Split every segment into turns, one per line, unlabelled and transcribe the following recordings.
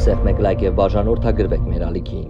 այստեղ մեկ լայք եւ բաժանորդագրվեք մեր ալիքին։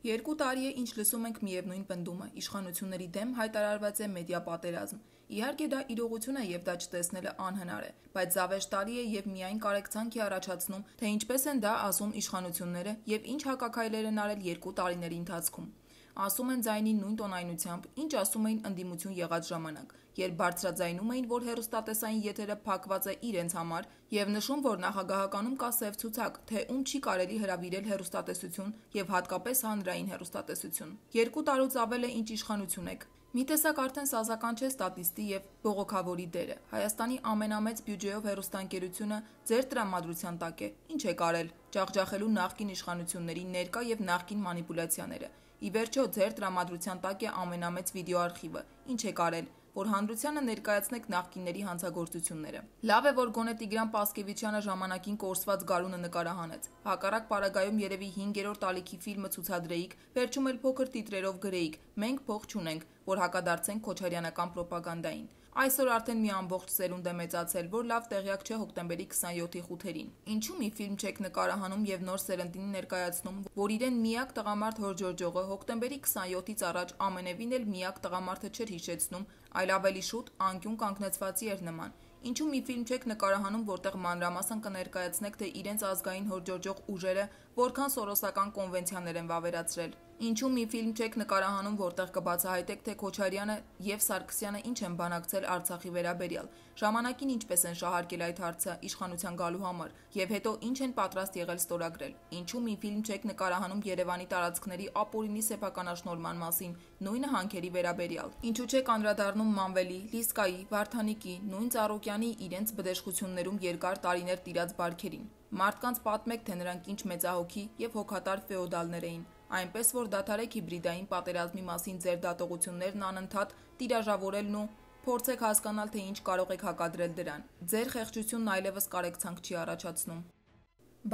2 տարի է ինչ լսում ենք միևնույն պնդումը՝ իշխանությունների դեմ հայտարարված է մեդիա պատերազմ։ Իհարկե դա իրողություն է եւ դա չտեսնելը անհնար է, բայց զավեշ տարի է եւ միայն կարեկցանք է առաջացնում, թե ինչպես են դա ասում իշխանությունները եւ ինչ հակաքայլեր են արել 2 տարիների ընթացքում։ Ասում են ձայնի նույն տոնայնությամբ, ինչ ասում էին ընդդիմություն եղած ժամանակ, երբ բարձրաձայնում էին, որ հեռուստատեսային եթերը փակված է իրենց համար եւ նշում, որ նախագահականում կա սև ցուցակ, թե ում չի կարելի հրավիրել հեռուստատեսություն եւ հատկապես հանրային հեռուստատեսություն։ 2 տարուց ավել է ինչ իշխանություն եք։ Մի տեսակ արդեն սազական չէ ստատիստի եւ բողոքավորի դերը։ Հայաստանի ամենամեծ բյուջեով հեռուստաընկերությունը ձեր տրամադրության տակ է։ Ինչ է կարել՝ ջախջախելու նախկին իշխանությունների ներկա եւ նախկին մանիպուլյացիաները։ Ի վերջո ձեր տրամադրության տակ է ամենամեծ վիդեոարխիվը։ Ինչ է կարել, որ հանրությանը ներկայացնեք նախկինների հանցագործությունները։ Լավ է, որ գոնե Տիգրան Պասկևիչյանը ժամանակին կորսված գարունը նկարահանեց։ Հակառակ պարագայում երևի 5-րդ ալիքի ֆիլմը ցուցադրեիք, վերջում էլ փոքր տիտրերով գրեիք՝ մենք փող չունենք, որ հակադարձենք քոչարյանական պրոպագանդային։ Այսօր արդեն մի ամբողջ սերունդ է մեծացել, որ լավ տեղյակ չէ հոկտեմբերի 27-ի խութերին։ Ինչու մի ֆիլմ չեք նկարահանում եւ նոր սերնդին ներկայացնում, որ իրեն միակ տղամարդ հորժորջողը հոկտեմբերի 27-ից առաջ ամենևին էլ միակ տղամարդը չէր հիշեցնում, այլ ավելի շուտ անկյուն կանգնեցվածի էր նման։ Ինչու մի ֆիլմ չեք նկարահանում, որտեղ մանրամասն կներկայացնեք, թե իրենց ազգային հորժորջող ուժերը որքան սորոսական կոնվենցիաներ են վավերացրել։ Ինչու մի ֆիլմ չեք նկարահանում, որտեղ կբացահայտեք, թե Քոչարյանը եւ Սարգսյանը ինչ են բանակցել Արցախի վերաբերյալ, ժամանակին ինչպես են շահարկել այդ հարցը իշխանության գալու համար եւ հետո ինչ են պատրաստ եղել ստորագրել։ Ինչու մի ֆիլմ չեք նկարահանում Երևանի տարածքների ապօրինի սեփականաշնորհման մասին, նույնը հանքերի վերաբերյալ։ Ինչու չեք անդրադառնում Մանվելի, Լիսկայի, Վարդանիկի, նույն Ծառուկյանի իրենց բդեշխություններում երկար տարիներ տիրած բարքերին։ Մարդկանց պատմեք, թե նրանք ինչ մեծահոգի եւ հոգատար ֆեոդալներ էին, այնպես որ դադարեք հիբրիդային պատերազմի մասին ձեր դատողություններն անընդհատ տիրաժավորելն ու փորձեք հասկանալ, թե ինչ կարող եք հակադրել դրան։ Ձեր խեղճությունն այլևս կարեկցանք չի առաջացնում։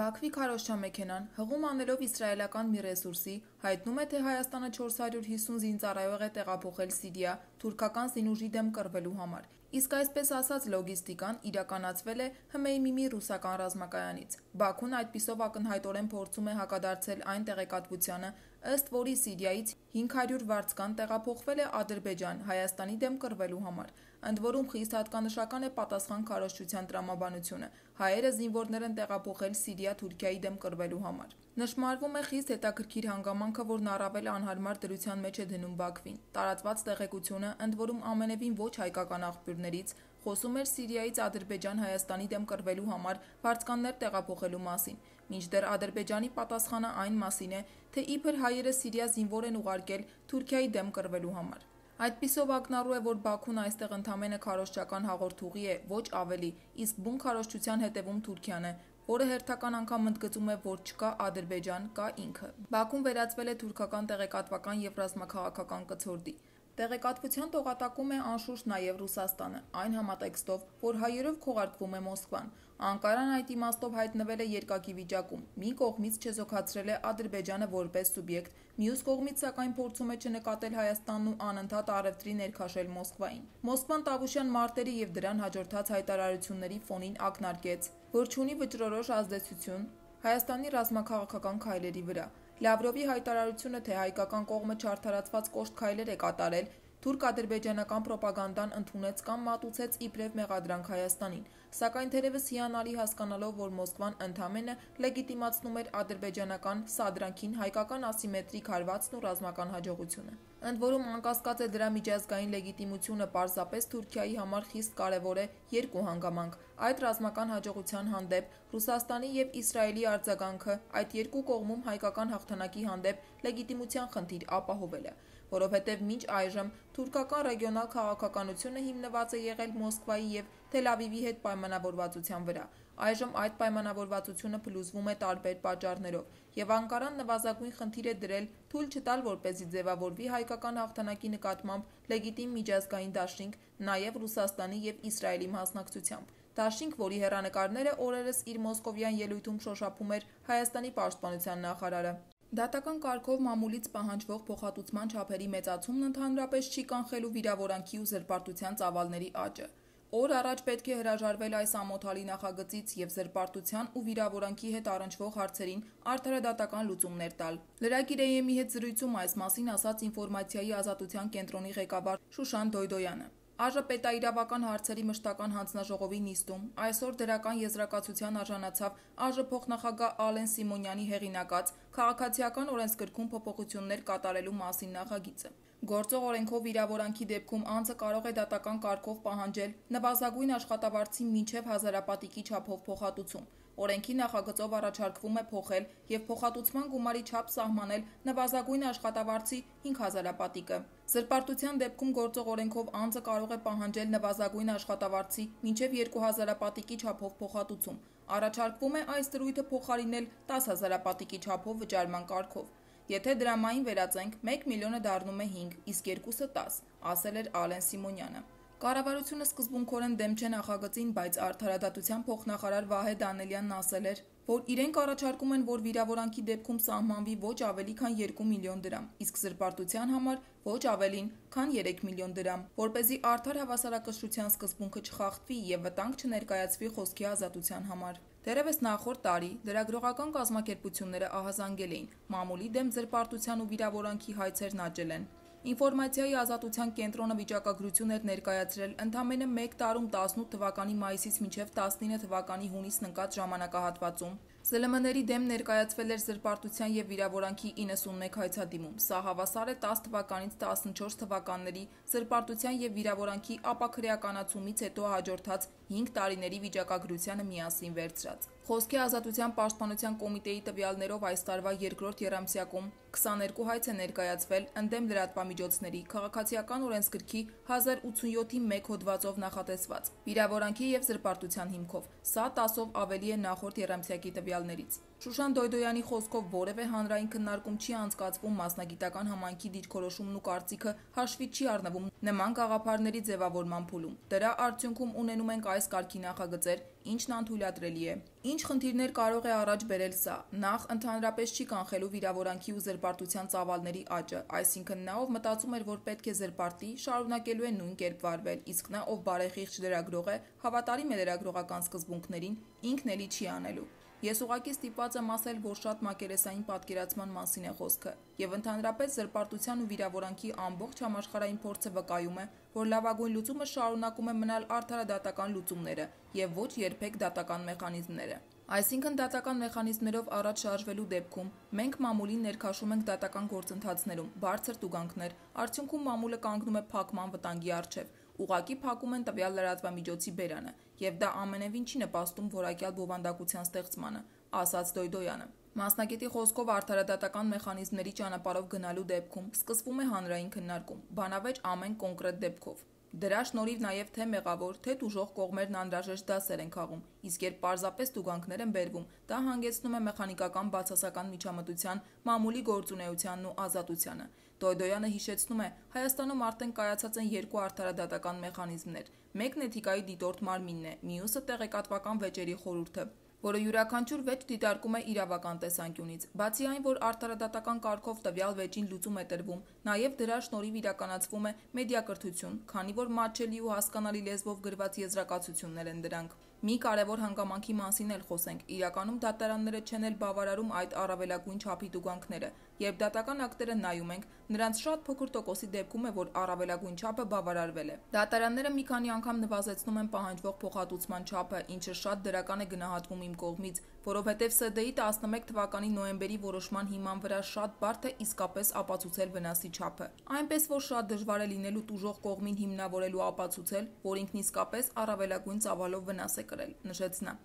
Բաքվի քարոզչամեքենան հղում անելով իսրայելական մի ռեսուրսի հայտնում է, թե Հայաստանը 450 զինծառայող է տեղափոխել Սիրիա թուրքական զինուժի դեմ կռվելու համար։ Իսկ այսպես ասած լոգիստիկան իրականացվել է ՀՄԻՄ ռուսական ռազմակայանից։ Բաքուն այդպիսով ակնհայտորեն փորձում է հակադարձել այն տեղեկատվությանը, ըստ որի Սիրիայից 500 վարձկան տեղափոխվել է Ադրբեջան Հայաստանի դեմ կռվելու համար։ Ընդ որում խիստ հատկանշական է պատասխան քարոզչության տրամաբանությունը։ Հայերը զինվորներ են տեղափոխել Սիրիա Թուրքիայի դեմ կռվելու համար։ Նշմարվում է խիստ հետաքրքիր հանգամանքը, որն առավել անհարմար դրության մեջ է դնում Բաքվին։ Տարածված տեղեկությունը, ընդ որում ամենևին ոչ հայկական աղբյուրներից, խոսում էր Սիրիայից Ադրբեջան Հայաստանի դեմ կռվելու համար վարձկաններ տեղափոխելու մասին։ Մինչդեռ Ադրբեջանի պատասխանը այն մասին է, թե իբր հայերը Սիրիա զինվոր են ուղարկել Թուրքիայի դեմ կռվելու համար։ Այդպիսով ակնառու է, որ Բաքուն այստեղ ընդամենը քարոզչական հաղորդուղի է, ոչ ավելի, իսկ բուն քարոզչության հետևում Թուրքիան է, որը հերթական անգամ ընդգծում է, որ չկա Ադրբեջան, կա ինքը։ Բաքուն վերածվել է թուրքական տեղեկատվական եւ ռազմաքաղաքական կցորդի։ Տեղեկատվության տողատակում է անշուշտ նաև Ռուսաստանը, այն համատեքստով, որ հայերով քողարկվում է Մոսկվան։ Անկարան այդ իմաստով հայտնվել է երկակի վիճակում։ Մի կողմից չեզոքացրել է Ադրբեջանը որպես սուբյեկտ, մյուս կողմից սակայն փորձում է չնկատել Հայաստանն ու անընդհատ առևտրի ներքաշել Մոսկվային։ Մոսկվան Տավուշյան մարտերի եւ դրան հաջորդած հայտարարությունների ֆոնին ակնարկեց, որ չունի վճռորոշ ազդեցություն Հայաստանի ռազմաքաղաքական քայլերի վրա։ Լավրովի հայտարարությունը, թե հայկական կողմը չարդարացված կոշտ քայլեր է կատարել, թուրք-ադրբեջանական պրոպագանդան ընդունեց կամ մատուցեց իբրև մեղադրանք Հայաստանին, սակայն թերևս հիանալի հասկանալով, որ Մոսկվան ընդամենը լեգիտիմացնում էր ադրբեջանական սադրանքին հայկական ասիմետրիկ հարվածն ու ռազմական հաջողությունը։ Ընդ որում անկասկած է դրա միջազգային լեգիտիմությունը պարզապես Թուրքիայի համար խիստ կարևոր է երկու հանգամանք։ Այդ ռազմական հաջողության հանդեպ Ռուսաստանի եւ Իսրայելի արձագանքը այդ երկու կողմում հայկական հաղթանակի հանդեպ լեգիտիմության խնդիր ապահովելը, որովհետև մինչ այժմ թուրքական ռեգիոնալ քաղաքականությունը հիմնված է եղել Մոսկվայի եւ Թել Ավիվի հետ պայմանավորվածության վրա։ Այժմ այդ պայմանավորվածությունը փլուզվում է տարբեր պատճառներով, եւ Անկարան նվազագույն խնդիր է դրել թույլ չտալ, որպեսզի ձևավորվի հայկական հաղթանակի նկատմամբ լեգիտիմ միջազգային դաշինք, նաեւ Ռուսաստանի եւ Իսրայելի մասնակցությամբ։ Դաշինք, որի հեռանկարները օրերս իր մոսկովյան ելույթում շոշափում էր Հայաստանի պաշտպանության նախարարը։ Դատական կարգով մամուլից պահանջվող փոխհատուցման չափերի մեծացումն ընդհանրապես չի կանխելու վիրավորանքի ու զրպարտության ծավալների աճը։ Օր առաջ պետք է հրաժարվել այս ամոթալի նախագծից եւ զրպարտության ու վիրավորանքի հետ առնչվող հարցերին արդարադատական լուծումներ տալ։ Լրագիր AM-ի հետ զրույցում այս մասին ասաց Ինֆորմացիայի ազատության կենտրոնի ղեկավար Շուշան Դոյդոյանը։ ԱԺ պետաիրավական հարցերի մշտական հանձնաժողովի նիստում այսօր դրական եզրակացության արժանացավ ԱԺ փոխնախագահ Ալեն Սիմոնյանի հեղինակած քաղաքացիական օրենսգրքում փոփոխություններ կատարելու մասին նախագիծը։ Գործող օրենքով վիրավորանքի դեպքում անձը կարող է դատական կարգով պահանջել նվազագույն աշխատավարձի մինչև 1000 պատիկի չափով փոխհատուցում։ Օրենքի նախագծով առաջարկվում է փոխել եւ փոխհատուցման գումարի չափ սահմանել նվազագույն աշխատավարձի 5000 պատիկը։ Զրպարտության դեպքում գործող օրենքով անձը կարող է պահանջել նվազագույն աշխատավարձի մինչև 2000 պատիկի չափով փոխհատուցում։ Առաջարկվում է այս դրույթը փոխարինել 10000 պատիկի չափով վճարման կարգով։ Եթե դրամային վերածենք, 1 միլիոնը դառնում է 5, իսկ 2-ը 10, ասել էր Ալեն Սիմոնյանը։ Կառավարությունը սկզբունքորեն դեմ չէ նախագծին, բայց արդարադատության փոխնախարար Վահե Դանելյանն ասել էր, որ իրենք առաջարկում են, որ վիրավորանքի դեպքում սահմանվի ոչ ավելի քան 2 միլիոն դրամ, իսկ զրպարտության համար ոչ ավելին, քան 3 միլիոն դրամ, որպեսզի արդար հավասարակշռության սկզբունքը չխախտվի եւ վտանգ չներկայացվի խոսքի ազատության համար։ Դեռևս նախորդ տարի լրագրողական կազմակերպությունները ահազանգել էին մամուլի դեմ զրպարտության ու վիրավորանքի հայցերն աճել են։ Ինֆորմացիայի ազատության կենտրոնը վիճակագրություն էր ներկայացրել ընդամենը 1 տարում 18 թվականի մայիսից մինչև 19 թվականի հունիսն ընկած ժամանակահատվածում։ ԶԼՄ-ների դեմ ներկայացվել էր զրպարտության եւ վիրավորանքի 91 հայցադիմում։ Սա հավասար է 10 թվականից 14 թվականների զրպարտության եւ վիրավորանքի ապաքրեականացումից հետո հաջորդած 5 տարիների վիճակագրությանը միասին վերցրած։ Խոսքի ազատության պաշտպանության կոմիտեի տվյալներով այս տարվա երկրորդ եռամսյակում 22 հայց է ներկայացվել ընդդեմ լրատվամիջոցների քաղաքացիական օրենսգրքի 1087-ի 1 հոդվածով նախատեսված վիրավորանքի եւ զրպարտության հիմքով։ Սա 10-ով ավելի է նախորդ եռամսյակի տվյալներից։ Շուշան Դոյդոյանի խոսքով որևէ հանրային քննարկում չի անցկացվում, մասնագիտական համայնքի դիրքորոշումն ու կարծիքը հաշվի չի առնվում նման գաղափարների ձևավորման փուլում։ Դրա արդյունքում ունենում ենք այս կարգի նախագծեր, ինչն անթույլատրելի է։ Ինչ խնդիրներ կարող է առաջ բերել սա։ Նախ, ընդհանրապես չի կանխելու վիրավորանքի ու զրպարտության ծավալների աճը, այսինքն նա, ով մտածում էր, որ պետք է զրպարտի, շարունակելու է նույն կերպ վարվել, իսկ նա, ով բարեխիղճ լրագրող է, հավատարիմ է լրագրողական սկզբունքներին, ինքն էլի չի անելու։ Ես ուղղակի ստիպված եմ ասել, որ շատ մակերեսային պատկերացման մասին է խոսքը, եւ ընդհանրապես զրպարտության ու վիրավորանքի ամբողջ համաշխարհային փորձը վկայում է, որ լավագույն լուծումը շարունակում է մնալ արդարադատական լուծումները եւ ոչ երբեք դատական մեխանիզմները։ Այսինքն դատական մեխանիզմներով առաջ շարժվելու դեպքում մենք մամուլին ներքաշում ենք դատական գործընթացներում բարձր տուգանքներ, արդյունքում մամուլը կանգնում է փակման վտանգի առջև, ուղղակի փակում են տվյալ լրատվամիջոցի բերանը, եւ դա ամենևին չի նպաստում որակյալ բովանդակության ստեղծմանը, ասաց Դոյդոյանը։ Մասնագետի խոսքով արդարադատական մեխանիզմների ճանապարհով գնալու դեպքում սկսվում է հանրային քննարկում, բանավեճ ամեն կոնկրետ դեպքով։ Դրա շնորհիվ նաև թե մեղավոր, թե տուժող կողմերն անհրաժեշտ դասեր են քաղում, իսկ երբ պարզապես տուգանքներ են բերվում, դա հանգեցնում է մեխանիկական բացասական միջամտության, մամուլի գործունեությանն ու ազատությանը։ Դոյդոյանը հիշեցնում է, Հայաստանում արդեն կայացած են 2 արդարադատական մեխանիզմներ։ Մեկն էթիկայի դիտորդ մարմինն է, մյուսը տեղեկատվական վեճերի խորհուրդը, որը յուրաքանչյուր վեճ դիտարկում է իրավական տեսանկյունից։ Բացի այն, որ արդարադատական կարգով տվյալ վեճին լուծում է տրվում, նաև դրա շնորհիվ իրականացվում է մեդիակրթություն, քանի որ մատչելի ու հասկանալի լեզվով գրված եզրակացություններ են դրանք։ Մի կարևոր հանգամանքի մասին էլ խոսենք։ Իրականում դատարանները չեն էլ բավարարում այդ առավելագույն չափի տուգանքները։ Երբ դատական ակտերը նայում ենք, նրանց շատ փոքր տոկոսի դեպքում է, որ առավելագույն չափը բավարարվել է։ Դատարանները մի քանի անգամ նվազեցնում են պահանջվող փոխհատուցման չափը, ինչը շատ դրական է գնահատվում իմ կողմից, որովհետև ՍԴ-ի 11 թվականի նոյեմբերի որոշման հիման վրա շատ բարդ է իսկապես ապացուցել վնասի չափը։ Այնպես որ շատ դժվար է լինելու տուժող կողմին հիմնավորելու ապացուցել, որ ինքն իսկապես առավելագույն ծավալով վնաս է կրել, նշեց նա։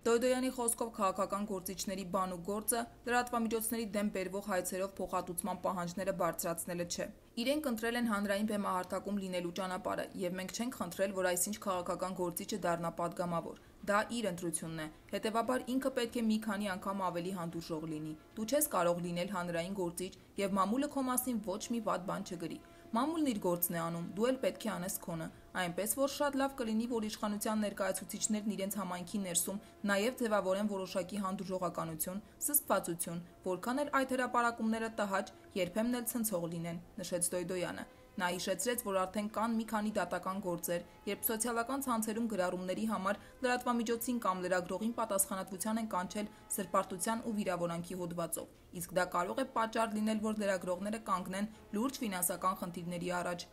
Դոյդոյանի խոսքով քաղաքական գործիչների բան ու գործը լրատվամիջոցների դեմ բերվող հայցերով փոխհատուցման պահանջները բարձրացնելը չէ։ Իրենք ընտրել են հանրային բեմահարթակում լինելու ճանապարհը, եւ մենք չենք խնդրել, որ այսինչ քաղաքական գործիչը դառնա падգամավոր։ Դա իր ընտրությունն է։ Հետևաբար ինքը պետք է մի քանի անգամ ավելի հանդուրժող լինի։ Դու չես կարող լինել հանրային գործիչ եւ մամուլը քո մասին ոչ մի վատ բան չգրի։ Մամուլն իր գործն է անում, դու էլ պետք է անես քոնը, այնպես որ շատ լավ կլինի, որ իշխանության ներկայացուցիչներն իրենց համայնքի ներսում նաև ձևավորեն որոշակի հանդուրժողականություն, զսպվածություն, որքան էլ այդ հրապարակումները տհաճ, երբեմն էլ ցնցող լինեն, նշեց Դոյդոյանը։ Նա հիշեցրեց, որ արդեն կան մի քանի դատական գործեր, երբ սոցիալական ցանցերում գրառումների համար լրատվամիջոցին կամ լրագրողին պատասխանատվության են կանչել սրբարտության ու վիրավորանքի հոդվածով, իսկ դա կարող է պատճառ լինել, որ լրագրողները կանգնեն լուրջ ֆինանսական խնդիրների առաջ։